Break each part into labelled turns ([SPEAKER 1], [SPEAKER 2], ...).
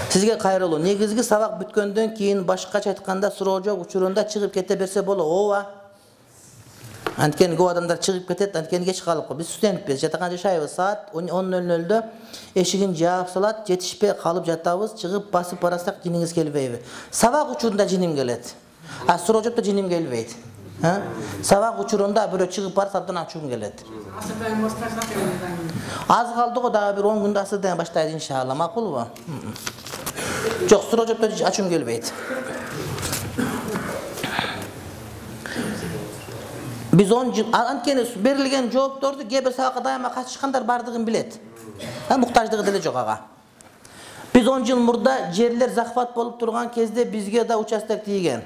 [SPEAKER 1] Sizге кайрылуу. Негизги сабак бүткөндөн кийин башкача айтканда суроо жок учурунда чыгып кете берсе болот. Ооба. Анткени көп адамдар чыгып кетет, анткени кеч калып калып. Биз студентпиз, жатакан жашайбыз. Саат 10:00-дө эшигин жаап салат, жетишпей калып жатабыз, чыгып басып барасак жиниңиз келбейби? Сабак учурунда жиним келет. А суроо жокто жиним келбейт. Сабак учурунда бирөө чыгып барса абдан ачуум келет. Аз калды го, дагы бир 10 күндө асырдан баштайт иншалла. Макулбу? Жок, суроо жокто ачуум келбейт. Биз 10 жыл анткени берилген жоопторду кээ бир сабакка дайыма катышкандар бардыгын билет. Муктаждыгы деле жок ага. Биз 10 жыл мурда жерлер захват болуп турган кезде бизге да участок тийген.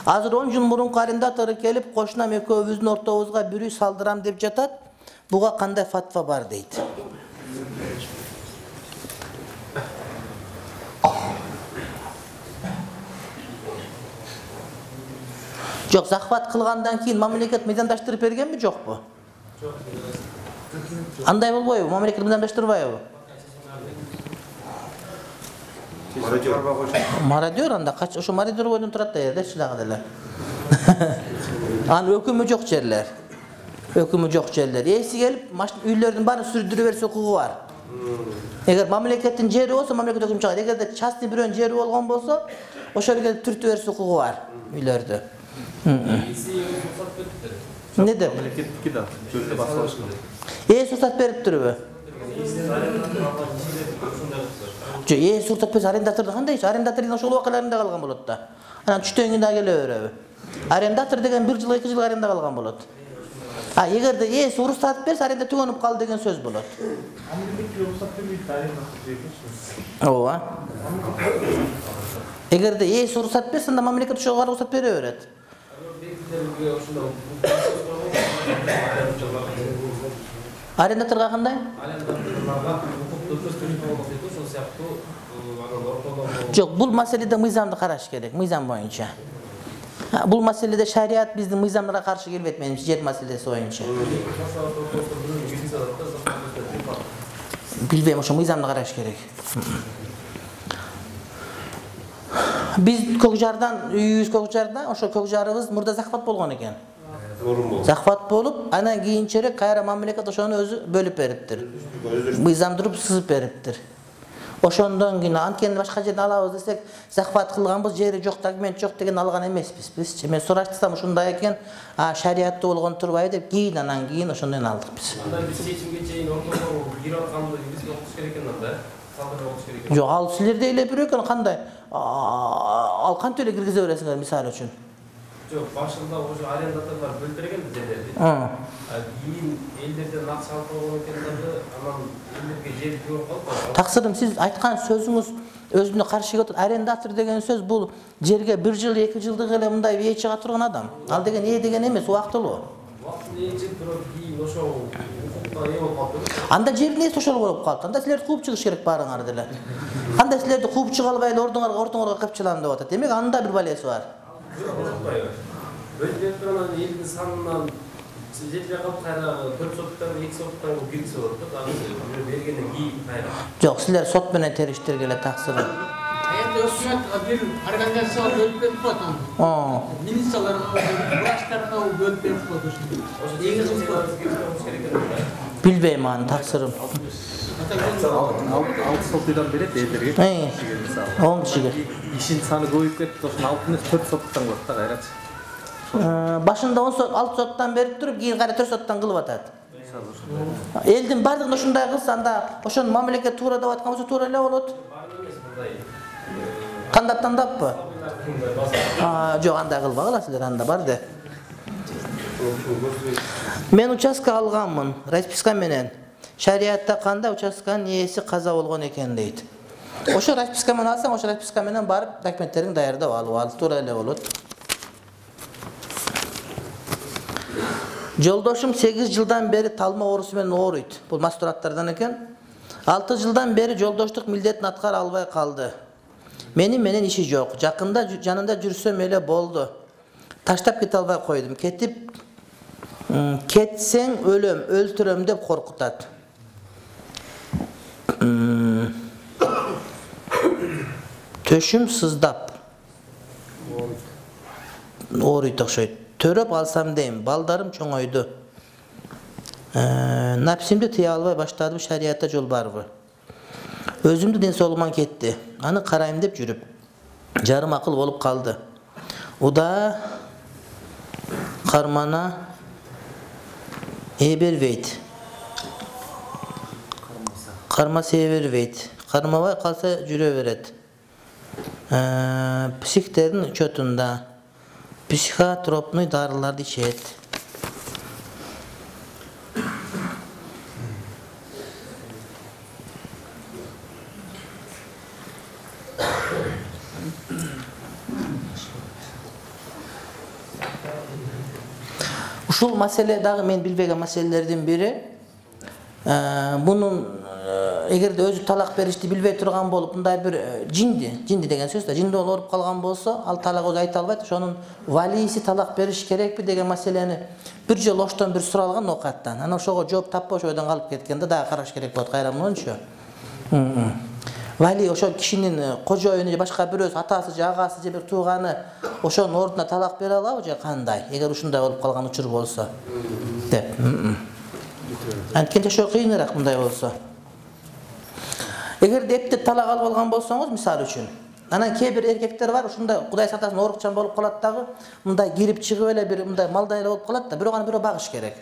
[SPEAKER 1] Азыр 10 жыл мурун арендатору келип, кошунам экөөбүздүн ортобузга бир үй салдырам деп жатат. Буга кандай фатва бар дейт. Жок, захват кылгандан кийин мамлекет мыйзамдаштырып бергенби, жокпу? Жок. Андай болбойбу? Мамлекет мыйзамдаштырбайбы? Мародер анда ошо мародер бойдон турат да жерде дагы деле. Анын өкүмү жок жерлер. Өкүмү жок жерлер. Эси келип, үйлөрдүн баарын сүрдүрө берсе укугу бар. Эгер мамлекеттин жери болсо, мамлекет өкүм чыгат. Эгерде частный бирөөнүн жери болгон болсо, ошол жерге түртүп берсе укугу бар үйлөрдү. Не деп?
[SPEAKER 2] Мамлекеттики да, жөлдө басып алышкан.
[SPEAKER 1] Рұқсат бериптирби? Жок, рұқсат берсе арендаторду кандай иш? Арендатор ошол убакыларында калган болот да. Анан түштөн кийин дагы келе береби? Арендатор деген 1 жыл, 2 жыл аренда калган болот. А эгерде рұқсат берсе аренда түгөнүп калды деген сөз болот.
[SPEAKER 2] Мамлекет рұқсат бербейт, арендатор жейбиз.
[SPEAKER 1] Ооба. Эгерде рұқсат берсе, анда мамлекет ошого рұқсат бере берет. Арендаторга кандай? Жок, бул маселеде мыйзамды караш керек, мыйзам боюнча. Бул маселеде шарият биздин мыйзамдарга каршы келбейт, менимче, жер маселеси боюнча. Билбейм, ошо мыйзамды караш керек. Биз Көкжардан, үйүбүз Көкжарда, ошо Көкжарыбыз мурда захват болгон экен. Захват болуп, анан кийинчерээк кайра мамлекет ошону өзү бөлүп бериптир. Мыйзамдырып сызып бериптир. Ошондон кийин анткени башка жерде алабыз десек, захват кылганбыз, жери жок, документ жок деген алган эмеспиз биз. Мен сураштырсам ушундай экен, шариятта болгон турбайбы деп, анан кийин ошондон алдык биз.
[SPEAKER 3] Анда биз чечимге чейин ортого кирип атканды бизге окутуш керек экен анда.
[SPEAKER 1] Жок, ал силерде эле бирөө экен, кандай? Ал кантип эле киргизе бересиңер, мисалы үчүн?
[SPEAKER 3] Жок, башында ошо арендаторлор бөлүп берген жерлерди. Кийин элдерден акча алып койгон экендерди, анан элдерге жер жок калып.
[SPEAKER 1] Таксырым, сиз айткан сөзүңүз өзүнө каршы келет. Арендатор деген сөз бул жерге 1 жыл, 2 жылдык эле мындай ээ чыга турган адам. Ал деген ээ деген эмес, убактылуу.
[SPEAKER 3] Убактылуу ээ чыгып турат, кийин ошо укукка ээ болуп калды.
[SPEAKER 1] Анда жердин ээси ошол болуп калды. Анда силерди кууп чыгыш керек баарыңар деле. Кандай силерди кууп чыга албай эле ортоңорго капчылам деп атат. Демек анда бир балеси бар.
[SPEAKER 3] Бөлүп берип турган элдин санынан жетпей калып кайра 4 соттан 2 соттан киргизе болот да, дагы бергенден кийин кайра.
[SPEAKER 1] Жок, силер сот менен териштиргиле таксыры.
[SPEAKER 4] Эми өкмөт бир организация бөлүп берип коет аны. Министрлер, врачтарга бөлүп берип коет ошо.
[SPEAKER 3] Ошо негизи киргиз керек экен.
[SPEAKER 1] Билбейм аны, таксырым.
[SPEAKER 2] Алты соттудан берет элдерге. Мисалы.
[SPEAKER 1] 10 кишиге.
[SPEAKER 2] Ишин саны көбөйүп кетти, ошону алып эмес 4 соттан кылат да кайрачы.
[SPEAKER 1] Башында 6 соттан берип туруп, кийин кайра 4 соттан кылып атат. Элдин бардыгын ушундай кылса, анда ошону мамлекет туура деп аткан болсо туура эле болот. Кандап тандаппы? Жок, андай кылбагыла силер, анда бар де. Мен участка алганмын, расписка менен. Шариятта кандай участканын ээси каза болгон экен дейт. Ошо расписка менен алсаң, ошо расписка менен барып документтериңди даярдап ал туура эле болот. Жолдошум 8 жылдан бери талма оорусу менен ооруйт. Бул мастураттардан экен. 6 жылдан бери жолдоштук милдетин аткара албай калды. Менен иши жок. Жакында жанында жүрсөм эле болду. Таштап кете албай койдум. Кетсең өлөм, өлтүрөм деп коркутат. Төшүм сыздап. Ооруйт окшойт. Төрөп алсам дейм, балдарым чоңойду. Напсимди тыя албай баштадым, шариятта жол барбы? Өзүмдү ден соолугуман кетти. Аны карайм деп жүрүп, жарым акыл болуп калды. Уда кармана эбербейт. Кармаса эбербейт. Кармабай калса жүрө берет. Психтердин учетунда психотропный дарыларды ичет. Ушул маселе дагы мен билбеген маселелердин бири. Бунун эгерде өзү талак беришти билбей турган болуп, мындай бир жинди деген сөз да, жинди ооруп калган болсо, ал талак өзү айта албайт, ошонун валийси талак бериш керекпи деген маселени бир жолу оштон бир суралган окаттан. Анан ошого жооп таппай ошол жерден калып кеткенде дагы караш керек болот кайра мынча. Вали ошол кишинин кожоюну же башка бирөөсү, атасы же агасы же бир тууганы ошонун ордуна талак бере алабы же кандай? Эгер ушундай болуп калган учур болсо деп. Анткени жашоо кыйыныраак мындай болсо. Эгерде эптеп талак алып алган болсоңуз, мисалы үчүн, анан кээ бир эркектер бар, ушундай Кудай сатасын оорукчан болуп калат дагы, мындай кирип чыгып эле бир мындай малдай эле болуп калат да, бирок аны бирөө багыш керек.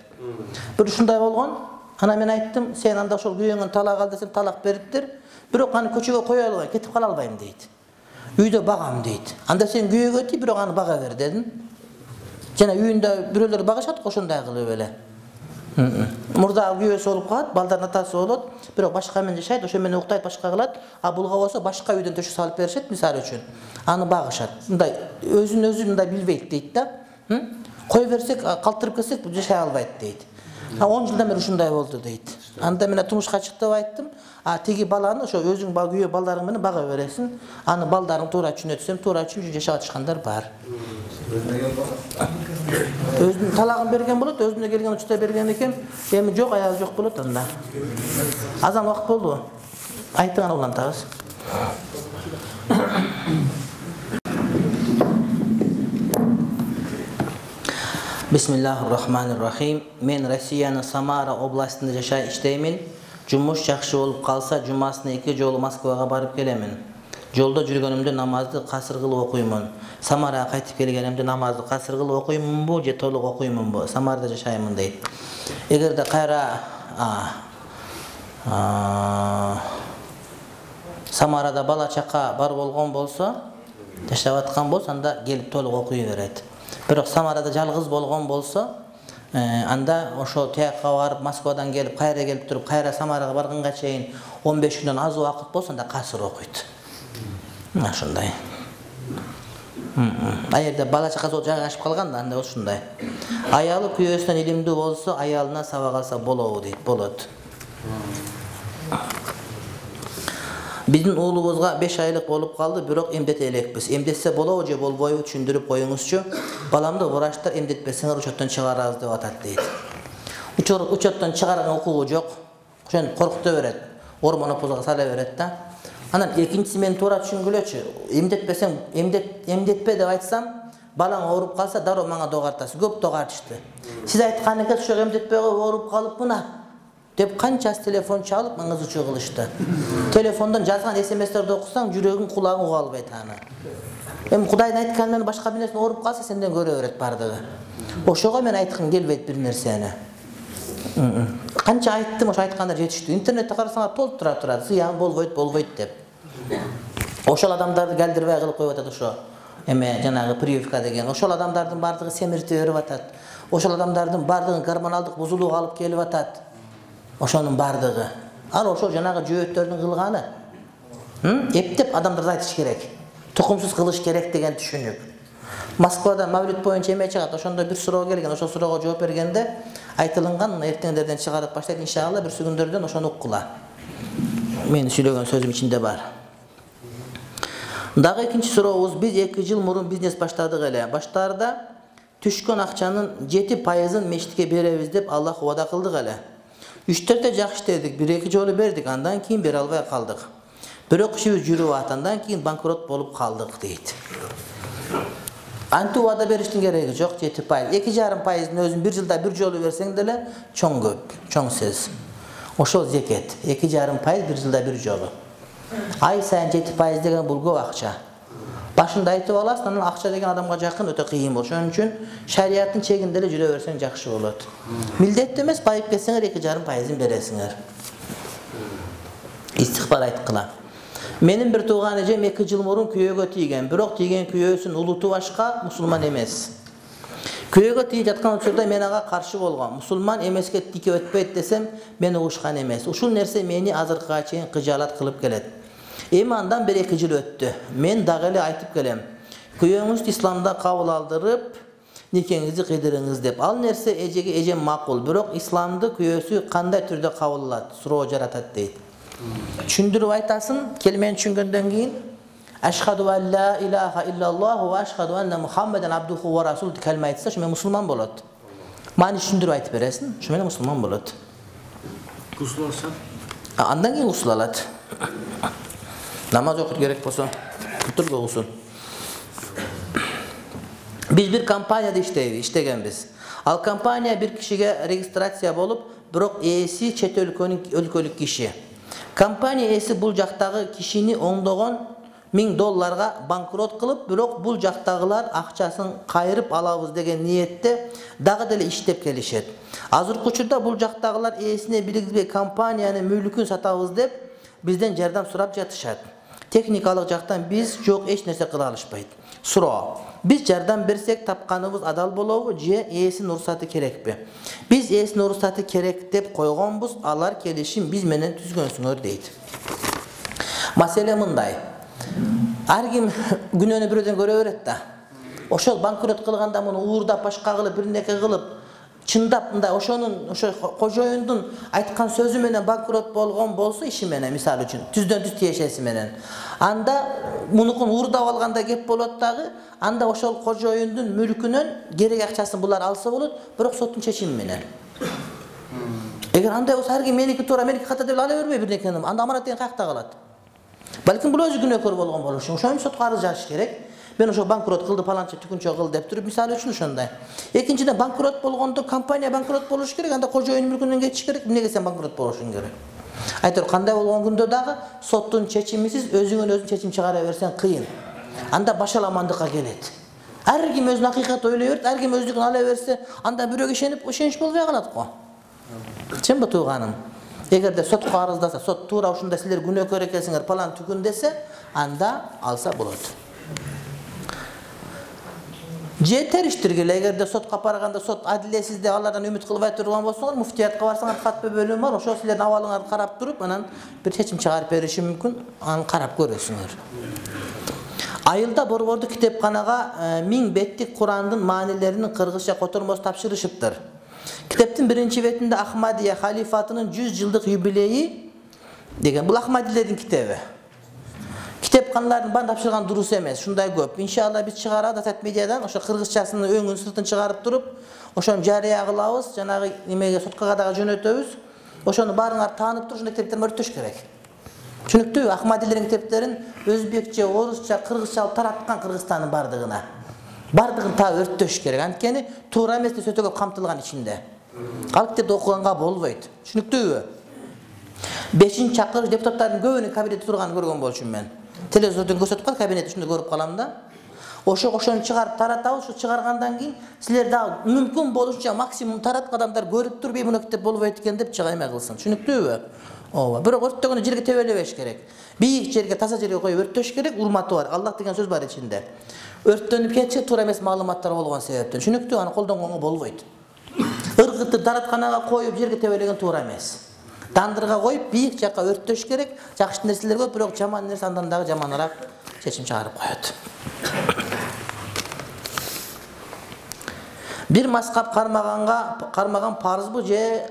[SPEAKER 1] Бир ушундай болгон. Анан мен айттым, сен анда ошол күйөөңөн талак ал десем талак бериптир, бирок аны көчөгө кое албай, кетип кала албайм дейт. Үйдө багам дейт. Анда сен күйөөгө тий, бирок аны бага бер дедим. Жана үйүндө бирөөлөр багышат, ошондой кылып эле. Мурдагы күйөөсү болуп калат, балдардын атасы болот, бирок башка менен жашайт, ошо менен уктайт, башка кылат. А булга болсо башка үйдөн төшүк салып беришет, мисалы үчүн. Аны багышат. Мындай өзүн мындай билбейт дейт да. Кой берсек, калтырып кетсек жашай албайт дейт. 10 жылдан бери ушундай болду дейт. Анда мен турмушка чык деп айттым. Тиги баланы ошо өзүң күйөө балдарың менен бага бересиң. Аны балдарың туура түшүнөт десем, туура түшүнүп жашап атышкандар бар. Өзүнүн талагын берген болот, өзүнө келген учурда берген экен. Эми жок, аягы жок болот анда. Азан убакыт болду. Айтыңар улантабыз. Бисмиллахир-рахманир-рахим. Мен Россиянын Самара областында жашай иштеймин. Жумуш жакшы болуп калса, жумасына 2 жолу Москвага барып келемин. Жолдо жүргөнүмдө намазды касыр кылып окуймун. Самарага кайтып келгенимде намазды касыр кылып окуймунбу же толук окуймунбу? Самарда жашаймын дейт. Эгерде кайра Самарада бала чака бар болгон болсо, жашап аткан болсо, анда келип толук окуй берет. Бирок Самарада жалгыз болгон болсо, анда ошо тияка барып Москвадан келип, кайра келип туруп, кайра Самарага барганга чейин 15 күндөн аз убакыт болсо, анда касыр окуйт. Ошондой. Аерде бала чакасы жайгашып калганда анда ушундай. Аялы күйөөсүнөн илимдүү болсо, аялына сабак алса болобу дейт, болот. Биздин уулубузга 5 айлык болуп калды, бирок эмдете элекпиз. Эмдетсе болобу же болбойбу түшүндүрүп коюңузчу. Баламды врачтар эмдетпесеңер учеттон чыгарабыз деп атат дейт. Учеттон чыгарган укугу жок. Ошон коркута берет. Ормонопозго сала берет да. Анан экинчиси мен туура түшүнгүлөчү. Эмдетпесең, эмдетпе деп айтсам, балаң ооруп калса, дароо мага догартасыз. Көп догартышты. Сиз айткан экен, ошо эмдетпей ооруп калыпмына деп канчасы телефон чалып маңызы чуу кылышты. Телефондон жазган SMS-терди окусаң, жүрөгүң, кулагың уга албайт аны. Эми Кудайдын айтканы менен башка бир нерсе ооруп калса, сенден көрө берет бардыгы. Ошого мен айткым келбейт бир нерсени. Канча айттым, ошо айткандар жетиштүү. Интернетте карасаңар толуп турат, зыян болбойт деп. Ошол адамдарды келдирбей кылып коюп атат ошо. Эме жанагы прививка деген. Ошол адамдардын бардыгы семиртип берип атат. Ошол адамдардын бардыгы гормоналдык бузулууга алып келип атат. Ошонун бардыгы. Ал ошол жанагы жөөттөрдүн кылганы. Эптеп адамдарды айтыш керек. Тукумсуз кылыш керек деген түшүнүк. Москвада мавлид боюнча эме чыгат, ошондо бир суроо келген, ошол суроого жооп бергенде айтылган эртеңдерден чыгарып баштайт, иншалла бир күндөрдөн ошону уккула. Мен сүйлөгөн сөзүм ичинде бар. Дагы экинчи сурообуз, биз 2 жыл мурун бизнес баштадык эле. Баштарда түшкөн акчанын 7% мечитке беребиз деп Аллах убада кылдык эле. 3-4 жакшы иштедик, 1-2 жолу бердик, андан кийин бере албай калдык. Бирок ишибиз жүрүп ат, андан кийин банкрот болуп калдык дейт. Антип убада бериштин кереги жок, 7%. 2,5%-ын өзүн 1 жылда 1 жолу берсең деле чоң көп, чоң сөз. Ошол зекет. 2,5% 1 жылда 1 жолу. Ай сайын 7% деген бул көп акча. Башында айтып аласың, анан акча деген адамга жакын өтө кыйын болот. Ошон үчүн шариаттын чегинде эле жүрө берсең жакшы болот. Милдеттүү эмес, байып кетсеңер 2,5%-ын бересиңер. Истихбар айткыла. Менин бир тууган эжем 2 жыл мурун күйөөгө тийген, бирок тийген күйөөсүн улуту башка, мусулман эмес. Күйөөгө тийип жаткан учурда мен ага каршы болгом. Мусулман эмеске тике өтпөйт десем, мен угушкан эмес. Ушул нерсе мени азыркыга чейин кыжаалат кылып келет. Эми андан 1-2 жыл өттү. Мен дагы эле айтып келем. Күйөөңүздү исламда кабыл алдырып, никеңизди кыйдырыңыз деп. Ал нерсе эжем макул, бирок исламды күйөөсү кандай түрдө кабыл алат, суроо жаратат дейт. Түшүндүрүп айтасын, келмени түшүнгөндөн кийин Ашхаду ан ла илаха иллаллаху ва ашхаду анна Мухаммадан абдуху ва расул деп калма айтса, ошо мусулман болот. Мани түшүндүрүп айтып бересиң, ошо менен мусулман болот.
[SPEAKER 4] Гусул алса?
[SPEAKER 1] Андан кийин гусул алат. Намаз окуп керек болсо, кутурга гусул. Биз бир компанияда иштегенбиз. Ал компания бир кишиге регистрация болуп, бирок ээси чет өлкөлүк киши. Компания ээси бул жактагы кишини оңдогон $1000 банкрот кылып, бирок бул жактагылар акчасын кайрып алабыз деген ниетте дагы деле иштеп келишет. Азыркы учурда бул жактагылар ээсине биригизбей компаниянын мүлкүн сатабыз деп бизден жардам сурап жатышат. Техникалык жактан биз жок эч нерсе кыла алышпайт. Суроо: биз жардам берсек тапканыбыз адал болобу же ээсинин уруксаты керекпи? Биз ээсинин уруксаты керек деп койгонбуз, алар келишим биз менен түзгөнсүңөр дейт. Маселе мындай. Ар ким күнөөнү бирөөдөн көрө берет да. Ошол банкрот кылганда муну уурдап башка кылып, бир неке кылып, чындап мындай ошо кожоюндун айткан сөзү менен банкрот болгон болсо, иши менен, мисалы үчүн, түздөн түз тиешеси менен. Анда мунукун уурдап алганда кеп болот дагы, анда ошол кожоюндун мүлкүнөн керек акчасын булар алса болот, бирок соттун чечими менен. Эгер андай болсо, ар ким меники туура, меники ката деп ала бербей бир некени, анда аманат деген каякта калат. Балким бул өзү күнөөкөр болгон болуш үчүн ошон сотко арыз жазыш керек. Мен ошо банкрот кылды, паланча түкүнчө кылды деп туруп, мисалы үчүн ошондой. Экинчиден, банкрот болгондо компания банкрот болуш керек, анда кожоюн мүлкүнөн кетиш керек. Эмнеге сен банкрот болушуң керек? Айтор, кандай болгон күндө дагы соттун чечимисиз өзүңөн өзүң чечим чыгара берсең кыйын. Анда башаламандыкка келет. Ар ким өзүнүн акыйкат ойлой берет, ар ким өзүнүн ала берсе, анда бирөөгө ишенич болбой калат го. Чынбы тууганым? Эгерде сотко арыздаса, сот туура ушундай силер күнөөкөр экенсиңер, палан түкүн десе, анда алса болот. Же териштиргиле, эгерде сотко барганда сот адилетсиз деп алардан үмүт кылбай турган болсоңор, муфтиятка барсаңар, катпы бөлүм бар, ошо силердин абалыңарды карап туруп, анан бир чечим чыгарып бериши мүмкүн, аны карап көрөсүңөр. Айылда Борбордук китепканага 1000 беттик Курандын маанилеринин кыргызча котормосу тапшырышыптыр. Китептин биринчи бетинде Ахмадия халифатынын 100 жылдык юбилейи деген, бул Ахмадилердин китеби. Китепканалардын баарын тапшырган дурус эмес, ушундай көп. Иншалла биз чыгарабыз Атат медиадан, ошо кыргызчасынын өңүн сыртын чыгарып туруп, ошону жарыя кылабыз, жанагы немеге соткага дагы жөнөтөбүз. Ошону баарыңар таанып туруп, ушундай китептерди өртөш керек. Түшүнүктүүбү? Ахмадилердин китептерин өзбекче, орусча, кыргызча алып тараткан Кыргызстандын бардыгына. Бардыгын таап өртөш керек. Анткени туура эмес нерсе өтө көп камтылган ичинде. Ал китепти окуганга болбойт. Түшүнүктүүбү? 5-чакырыш депутаттардын көбүнүн кабинетте турганын көргөн болчумун мен. Телевизордон көрсөтүп кал, кабинетти ушундай көрүп калам да. Ошого ошону чыгарып таратабыз, ушу чыгаргандан кийин силер дагы мүмкүн болушунча максимум тараткан адамдар көрүп туруп, муну китеп болбойт экен деп чыга эме кылсын. Түшүнүктүүбү? Ооба. Бирок өрттөгөндө жерге тебелебеш керек. Бийик жерге, таза жерге коюп өртөш керек, урматы бар. Аллах деген сөз бар ичинде. Өрттөнүп кетчи, туура эмес маалыматтар болгон себептен. Түшүнүктүү, аны колдонгонго болбойт. Ыргытты даратканага коюп жерге тебелеген туура эмес. Дандырга коюп бийик жакка өртөш керек. Жакшы нерселер көп, бирок жаман нерсе андан дагы жаманыраак чечим чыгарып коет. Бир маскап кармаган парызбы же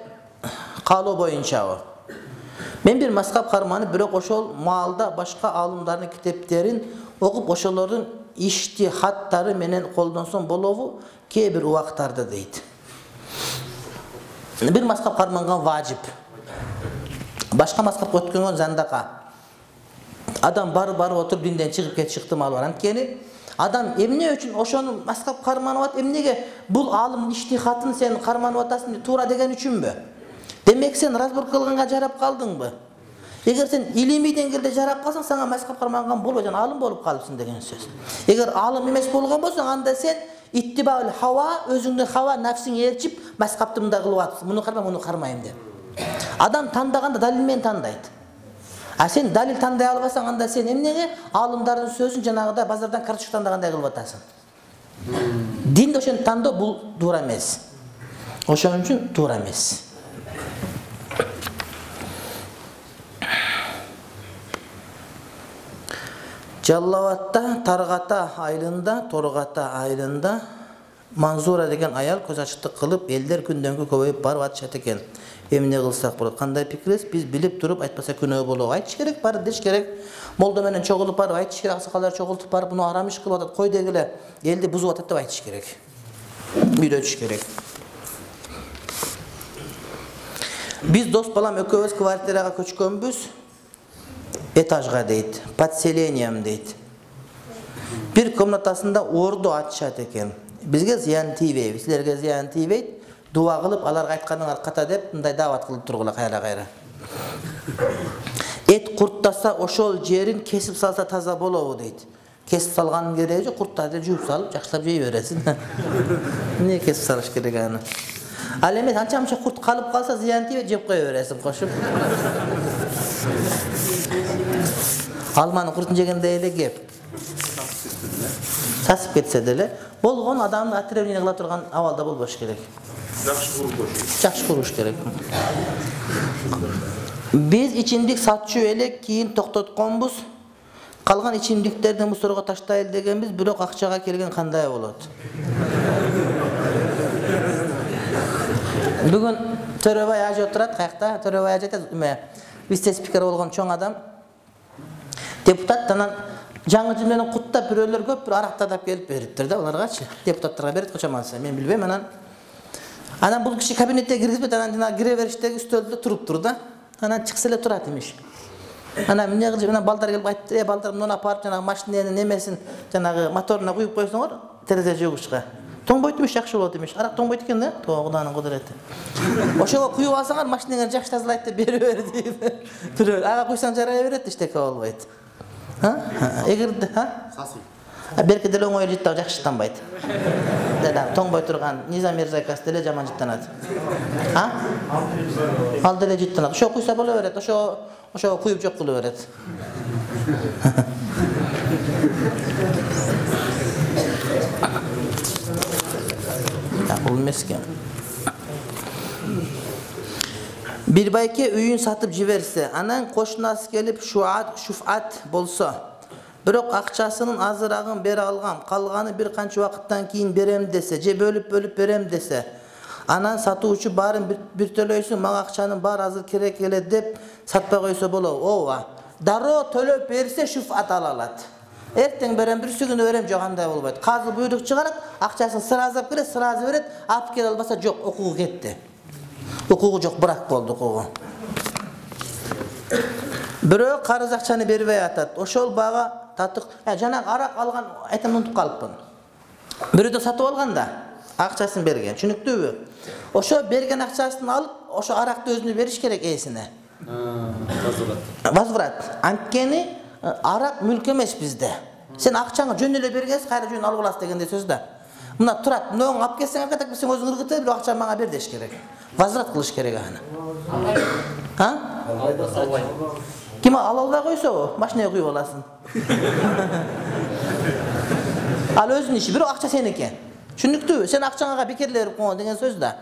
[SPEAKER 1] каалоо боюнчабы? Мен бир мазхаб карманы, бирок ошол маалда башка аалымдардын китептерин окуп, ошолордун иштихаттары менен колдонсом болобу кээ бир убактарда дейт. Бир мазхаб карманган важип. Башка мазхабка өткөнгөн зандака. Адам барып отуруп динден чыгып кетиши ыктымалы бар. Анткени адам эмне үчүн ошону мазхаб карманып атат? Эмнеге бул аалымдын иштихатын сен карманып атасың, туура деген үчүнбү? Демек сен разбор кылганга жарап калдыңбы? Эгер сен илимий деңгээлде жарап калсаң, сага мазхаб карманган болбой, жана алым болуп калыпсың деген сөз. Эгер алым эмес болгон болсоң, анда сен иттибаул хава, өзүңдүн хава нафсиң ээрчип, мазхабты мындай кылып атасың. Муну карма, муну кармайм деп. Адам тандаганда далил менен тандайт. А сен далил тандай албасаң, анда сен эмнеге алымдардын сөзүн жанагыдай базардан карточка тандагандай кылып атасың? Динде ошону тандоо бул туура эмес. Ошон үчүн туура эмес. Жаллаватта Таргата айылында Манзура деген аял көз ачыктык кылып, элдер күндөн-күнгө көбөйүп барып атышат экен. Эмне кылсак болот? Кандай пикириз? Биз билип туруп айтпаса күнөө болобу? Айтыш керек, барып деш керек. Молдо менен чогулуп барып айтыш керек, аксакалдар чогултуп барып, муну арам иш кылып атат, кой дегиле, элди бузуп атат деп айтыш керек. Үйрөтүш керек. Биз дос балам экөөбүз квартирага көчкөнбүз. Этажга дейт, подселением дейт. Бир комнатасында орду ачышат экен. Бизге зыян тийбейт, силерге зыян тийбейт. Дуа кылып, аларга айтканыңар ката деп, мындай даават кылып тургула кайра-кайра. Эт курттаса, ошол жерин кесип салса таза болобу дейт. Кесип салганын кереги жок, курттарды жууп салып, жакшылап жей бересиң. Эмне кесип салыш керек аны? Ал эми анча-мынча курт калып калса, зыян тийбейт, жеп кое бересиң кошуп. Алманы куртун жегенде эле кеп. Сасып кетсе деле, болгон адамды отравление кыла турган абалда болбош керек. Жакшы куруш керек. Биз ичимдик сатчу элек, кийин токтотконбуз. Калган ичимдиктерди мусорго таштайлы дегенбиз, бирок акчага келген кандай болот? Бүгүн Төрөбай ажы отурат, каякта? Төрөбай ажы айтат, вице-спикер болгон чоң адам. Депутат анан жаңы жыл менен куттап бирөөлөр көп бир арактадап келип бериптир да аларгачы. Депутаттарга берет кочоманса, мен билбейм. Анан бул киши кабинетке киргизбейт, анан жана кире бериштеги үстөлдө туруптур да. Анан чыкса эле турат имиш. Анан эмне кылып, анан балдар келип айтты, балдар муну апарып жанагы машиненин немесин, жанагы моторуна куюп койсоңор, терезе жуугучка. Тоңбойт имиш, жакшы болот имиш. Арак тоңбойт экен да, Куданын кудурети. Ошого куюп алсаңар, машинеңер жакшы тазалайт деп берип бер дейт. Бирөө ага куйсаң жарай берет, эчтеке болбойт. Эгерде,
[SPEAKER 5] Сасый.
[SPEAKER 1] Берки деле оңой жыттап жакшы жыттанбайт. Тоңбой турган Низам Мирзайкас деле жаман жыттанат. Ал деле жыттанат. Ошо куйса боло берет, ошо куюп жок кылып берет. Бул эмеске. Bir байке үйүн сатып жиберсе, анан кошунасы келип шуфат болсо, бирок акчасынын азырагын бере алгам, калганы бир канча убакыттан кийин берем десе, же бөлүп берем десе, анан сатуучу баарын бир төлөйсүң, мага акчанын баары азыр керек эле деп сатпай койсо болобу? Ооба. Дароо төлөп берсе шуфат ала алат. Эртең берем, бирсү күнү берем, жок андай болбойт. Казы буйрук чыгарат, акчасын сыразап келет, сыразы берет, алып келе албаса жок, укугу кетти. Укугу жок, брак болду укугу. Бирөө карыз акчаны бербей атат. Ошол бага татык, жанагы арак алган, айтам унутуп калыпмын. Бирөөдө сатып алганда акчасын берген, түшүнүктүүбү? Ошо берген акчасын алып, ошо аракты өзүнө бериш керек ээсине. Возврат. Анткени арак мүлк эмес бизде. Сен акчаңы жөн эле бергенсиң, кайра жөн алып аласың дегенде сөз да. Мына турат, мынуну алып келсең, акча берсең өзүң ыргытып, бирок акчаны мага бер деш керек. Возврат кылыш керек аны. Ким ала албай койсо, машинага куюп аласың. Ал өзүнүн иши, бирок акча сеники. Түшүнүктүүбү? Сен акчаңа бекерле берип койгон деген сөз да.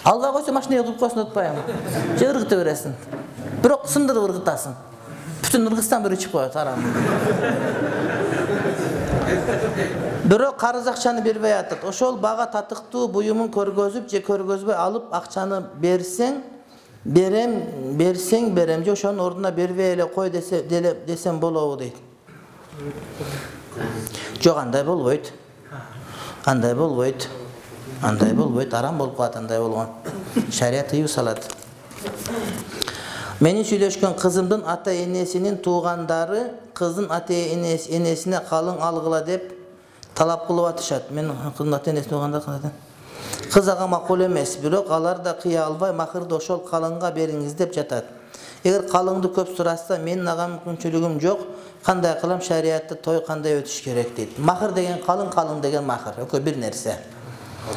[SPEAKER 1] Албай койсо машинага куюп койсоң утпайбы? Же ыргытып бересиң. Бирок сындырып ыргытасың. Бүтүн ыргытсаң бирөө чыгып коет, арам. Бирок карыз акчаны бербей атат. Ошол бага татыктуу буюмун көргөзүп же көргөзбөй алып акчаны берсең, берсең берем, же ошонун ордуна бербей эле кой десем болобу дейт. Жок, андай болбойт. Андай болбойт. Андай болбойт, арам болуп калат андай болгон. Шарият тыюу салат. Менин сүйлөшкөн кызымдын ата-энесинин туугандары кыздын ата-энесине калың алгыла деп талап кылып атышат. Мен кыздын ата-энесине туугандары кыз ага макул эмес, бирок алар да кыя албай махырды ошол калыңга бериңиз деп жатат. Эгер калыңды көп сурашса, менин ага мүмкүнчүлүгүм жок. Кандай кылам, шариятта той кандай өтүш керек дейт. Махыр деген калың деген махыр. Экөө бир нерсе.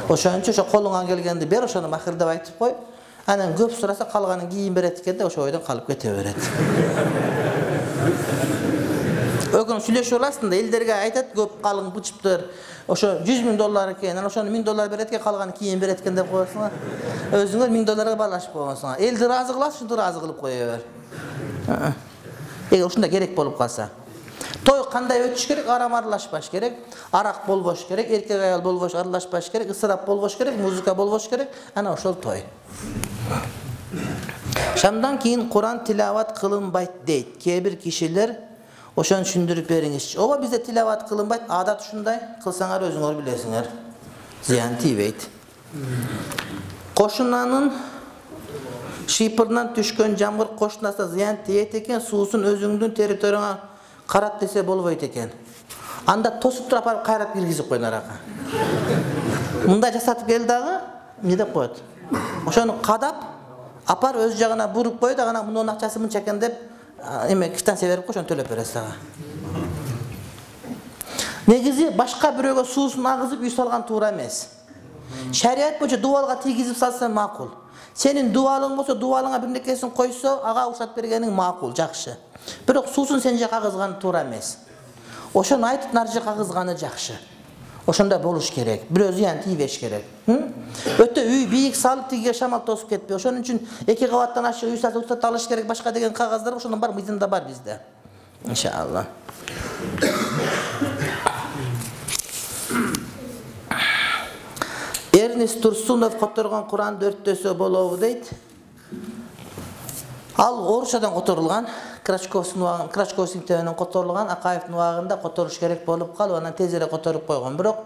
[SPEAKER 1] Ошон үчүн ошо колуңан келгенди бер, ошону махыр деп айтып кой. Анан көп сураса калганын кийин берет экен деп ошо ойдон калып кете берет. Өкүн сүйлөшүп аласың да, элдерге айтат көп калың бычыптыр. Ошо $100,000 экен, анан ошону $1000 берет экен, калганын кийин берет экен деп коесуңар. Өзүңөр $1000 баалашып койгонсуңар. Элди ыраазы кыласың, ушинтип ыраазы кылып кое бер. Эгер ушундай керек болуп калса. Той кандай өтүш керек? Арам аралашпаш керек. Арак болбош керек, эркек аял болбош, аралашпаш керек, ысырап болбош керек, музыка болбош керек. Ана ошол той. Шамдан кийин Куран тилават кылынбайт дейт. Кээ бир кишилер ошону түшүндүрүп бериңизчи. Ооба, бизде тилават кылынбайт, адат ушундай. Кылсаңар өзүңөр билесиңер. Зыян тийбейт. Кошунанын шыйпырынан түшкөн жамгыр кошунасына зыян тийет экен, суусун өзүңдүн территорияңа карат десе болбойт экен. Анда тосуп туруп апарып кайрап киргизип койгон арака. Мындай жасатып кел дагы, эмне деп коет? Ошону кадап, апар өз жагына буруп коет, ана мунун акчасы мынча экен деп, эме квитанция берип ошону төлөп бересиз ага. Негизи башка бирөөгө суусун агызып үй салган туура эмес. Шарият боюнча дубалга тийгизип салса макул. Сенин дубалың болсо, дубалыңа бир нерсесин койсо, ага уруксат бергениң макул, жакшы. Бирок суусун сен жака агызган туура эмес. Ошону айтып нар жака агызганы жакшы. Ошондой болуш керек. Бирөө зыян тийбеш керек. Өтө үй бийик салып тигиге шамал тосуп кетпей. Ошон үчүн 2 кабаттан ашык үй салып уруксат алыш керек, башка деген кагаздар ошондон бар, мыйзамда бар бизде. Иншалла. Эрнис Турсунов которгон Куран 4-төсө болобу дейт. Ал орусчадан которулган, Крачковский тебенен которулган, Акаевдин убагында которуш керек болуп калып, анан тез эле которуп койгон. Бирок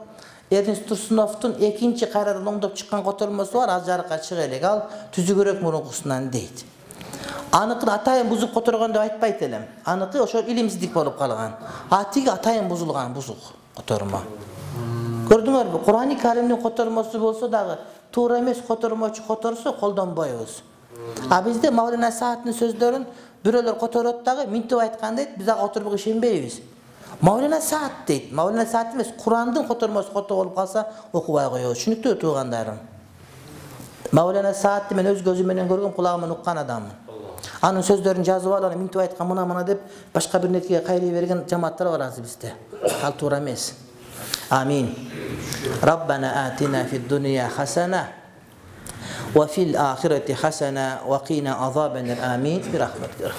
[SPEAKER 1] Эрнис Турсуновдун экинчи кайрадан оңдоп чыккан которулмасы бар, аз жарыкка чыга элек. Ал түзүгүрөөк мурункусунан дейт. Аныкын атайын бузуп которгон деп айтпайт элем. Аныкы ошо илимсиздик болуп калган. Тиги атайын бузулган, бузук которма. Көрдүңөрбү? Курани Каримдин котормосу болсо дагы туура эмес котормочу которсо колдонбойбуз. А бизде Маулана Сааттын сөздөрүн бирөөлөр которот дагы минтип айткан дейт, биз ага отуруп ишенбейбиз. Маулана Саат дейт. Маулана Саат эмес, Курандын котормосу кото болуп калса окубай коебуз. Түшүнүктүү туугандарым. Маулана Саатты мен өз көзүм менен көргөм, кулагым менен уккан адаммын. Анын сөздөрүн жазып алып, минтип айткан мына деп башка бир нерсеге кайрый берген жамааттар бар азыр бизде. Ал туура эмес. Амин. Rabbana atina fid dunya hasana wa fil akhirati hasana wa qina azaban amin bi rahmatika.